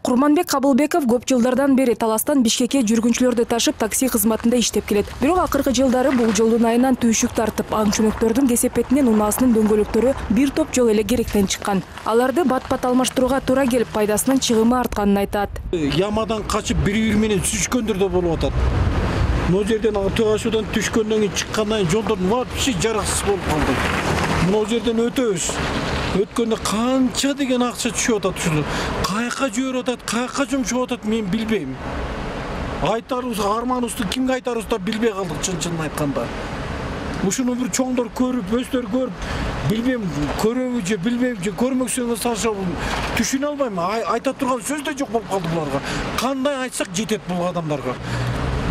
Курманбек Кабылбеков көп жылдардан бери Таластан Бишкекке жүргүнчүлөрдү ташып такси кызматында иштеп келет. Бирок акыркы жылдары бул жолдун айынан түйшүк тартып, аңчүнөктөрдүн кесепетинен унаасынын дөңгөлөктөрү бир топ жол эле керектен чыккан. Аларды бат-бат алмаштырууга туура келип, пайдасынын чыгымы артканын айтат. Ямадан качып бири-бири менен сүзүшкөндөр да болуп атат. Могу жерден төө ашуудан түшкөндөн кийин чыккандан жолдордун вообще жараксыз болуп калды. Могу жерден өтөбүз. Өткөндө канча деген акча түшүп атат ушул. Каяка жиберип атат, каяка жумшап атат мен билбейм. Айтарыбыз, арманыбызды кимге айтарыбызды да билбей калдык чын айтканда. Ушуну бир чоңдор көрүп, өздөрү көрүп, билбейм, көрөбү же билбейм же көрмөкчүлүгүнө салышабы түшүнө албайм. Айта турган сөз да жок болуп калды буларга. Кандай айтсак жетет бул адамдарга.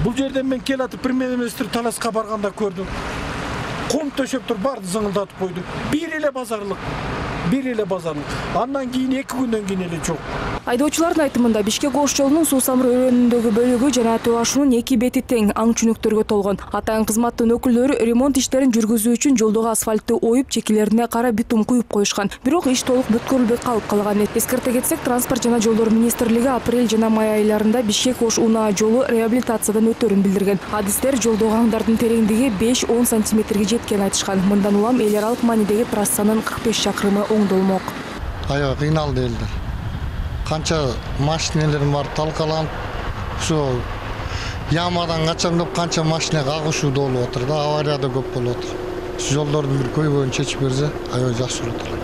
Бул жерден мен келатып премьер-министр Таласка барганда көрдүм. Кум төшөп туруп барды зыңылдатып койду. Бир эле базарлык. Андан кийин 2 күндөн кийин эле жок. Айдоочулардын айтымында Бишкек Ош жолунун Суу-Самыр өрөөнүндөгү бөлүгү жана төө ашуунун 2 бети тең аңчүнөктөргө толгон. Атайын кызматтын өкүлдөрү ремонт иштерин жүргүзүү үчүн жолдогу асфальтты оюп, чекелерине кара битум куюп коюшкан. Бирок иш толук бүткөрүлбөй калып калган. Эскерте кетсек, Транспорт жана жолдор министрлиги апрель жана май айларында Бишкек Ош унаа жолу реабилитациядан өтөрүн билдирген. Адистер жолдогу аңдардын тереңдиги 5-10 сантиметрге жеткенин айтышкан. Мындан улам эл аралык маанидеги трассанын 45 чакырымы оңдолмок. Аябай кыйналды элдер. Канча машиналар бар талкаланып, ошо ямадан качам деп канча машина кагышууда болуп атыр да, авария да көп болуп атыр. Ушу жолдордун бир көйгөйүн чечип берсе, аябай жакшы болот эле.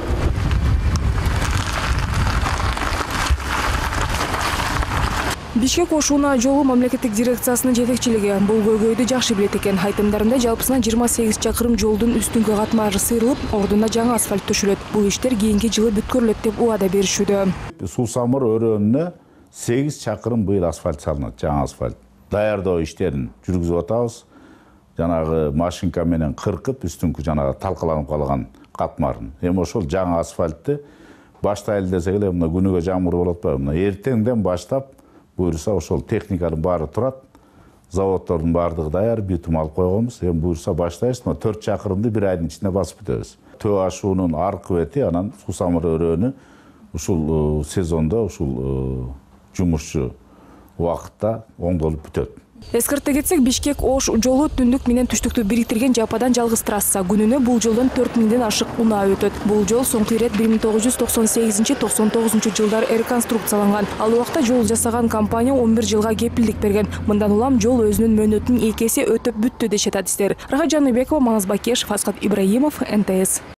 Бишкек Ош унаа жолу мамлекеттик дирекциясынын жетекчилиги бул көйгөйдү жакшы билет экен. Айтымдарында жалпысынан 28 чакырым жолдун үстүңкү катмары сыйрылып, ордуна жаңы асфальт төшөлөт. Бул иштер кийинки жылы бүткөрүлөт деп убада беришүүдө. Суу-Самыр өрөөнүнө 8 чакырым быйыл асфальт салынат, жаңы асфальт. Даярдоо иштерин жүргүзүп атабыз. Жанагы машинка менен кыркып, үстүңкү жанагы талкаланып калган катмарын. Эми ошол жаңы асфальтты баштайлы десек эле, мына күнүгө жамгыр болуп атпайбы? Мына эртеңден баштап буюрса ошол техниканын баары турат, заводдордун баардыгы даяр, битум алып койгонбуз. Эми буюрса баштайбыз, 4 чакырымды бир айдын ичинде басып бүтөбүз. Төө ашуунун аркы бети, анан Суу-Самыр өрөөнү ушул сезондо ушул жумушчу убакытта оңдолуп бүтөт. Эскерте кетсек, Бишкек Ош жолу түндүк менен түштүктү бириктирген жападан жалгыз трасса. Күнүнө бул жолдон 4000ден ашык унаа өтөт. Бул жол соңку ирет 1998-99 жылдары реконструкцияланган. Ал убакта жол жасаган компания 11 жылга кепилдик берген. Мындан улам жол өзүнүн мөөнөтүн 2 эсе өтөп бүттү дешет адистер. Рахат Жаныбекова, Маңыз Бакешев, Асхат Ибраимов, НТС.